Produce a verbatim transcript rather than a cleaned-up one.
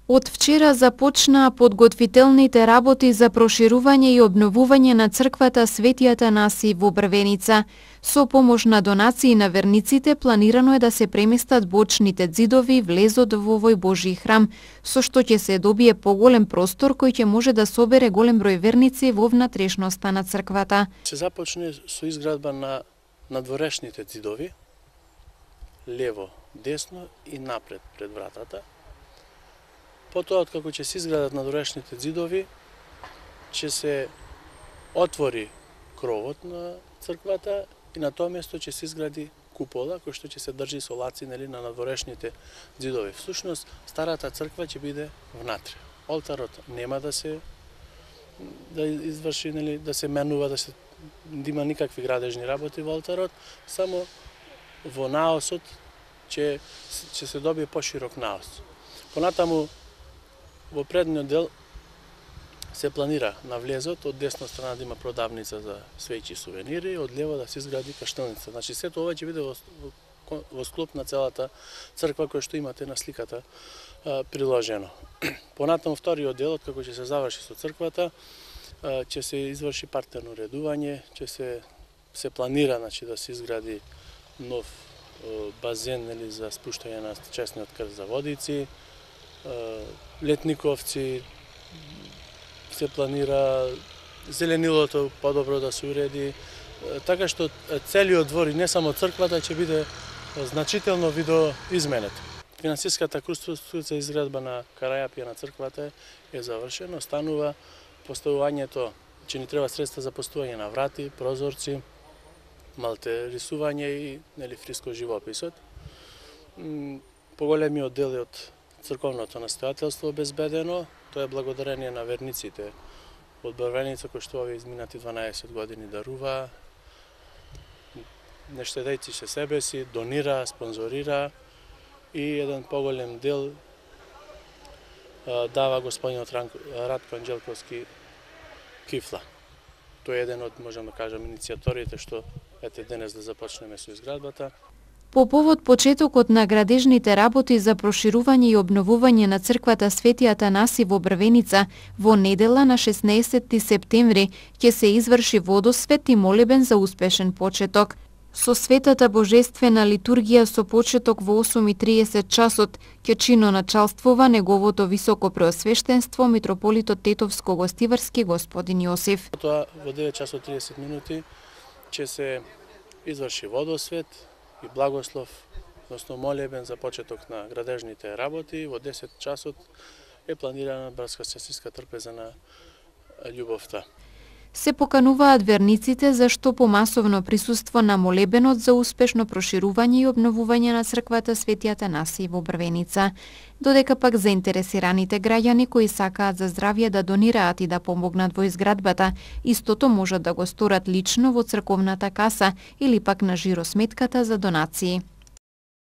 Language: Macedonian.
Од вчера започнаа подготвителните работи за проширување и обновување на црквата Свети Атанаси во Брвеница. Со помош на донации на верниците планирано е да се преместат бочните ѕидови влезот во овој Божји храм, со што ќе се добие поголем простор кој ќе може да собере голем број верници во внатрешноста на црквата. Се започне со изградба на надворешните ѕидови, лево, десно и напред пред вратата. Потоа, откако ќе се изградат надворешните ѕидови, ќе се отвори кровот на црквата и на тоа место ќе се изгради купола, кој што ќе се држи со лаци нели, на надворешните ѕидови. Всушност, старата црква ќе биде внатре. Олтарот нема да се да изврши, нели, да се менува, да се да има никакви градежни работи во олтарот, само во наосот ќе ќе се добие поширок наос. Понатаму во предниот дел се планира на влезот од десна страна да има продавница за свеќи и сувенири, од лево да се изгради каштелница. Значи сето ова ќе биде во, во, во склоп на целата црква која што имате на сликата а, приложено. Понатаму вториот дел, како ќе се заврши со црквата, а, ќе се изврши партерно редување, ќе се се планира значи да се изгради нов а, базен нели за спуштање на честниот крст за водици, летниковци, се планира зеленилото подобро да се уреди, така што целиот двор и не само црквата ќе биде значително видоизменет. Финансиската конструкција за изградба на карајапија на црквата е завршена, останува поставувањето, че ни треба средства за поставување на врати, прозорци, малте рисување и нели фриско живописот. Поголемиот дел е од црковното настојателство обезбедено, тоа е благодарение на верниците од Брвеница кои што овие изминати дванаесет години дарува, не штедејќи се себе си, донира, спонзорира и еден поголем дел дава господинот Радко Анџелковски кифла. Тој е еден од, можам да кажам, иницијаторите што ете денес да започнеме со изградбата. По повод почетокот на градежните работи за проширување и обновување на црквата Свети Атанаси во Брвеница, во недела на шеснаесетти септември ќе се изврши водосвет и молебен за успешен почеток. Со светата божествена литургија со почеток во осум и триесет часот ќе чино началствува неговото високо преосвештенство митрополитот Тетовско-Гостиварски господин Јосиф. Тоа во девет часот триесет минути ќе се изврши водосвет и благослов, односно молебен за почеток на градежните работи. Во десет часот е планирана братска сестринска трпеза на љубовта. Се покануваат верниците за што помасовно присуство на молебенот за успешно проширување и обновување на црквата Свети Атанаси во Брвеница. Додека пак заинтересираните граѓани кои сакаат за здравје да донираат и да помогнат во изградбата, истото можат да го сторат лично во црковната каса или пак на жиросметката за донации.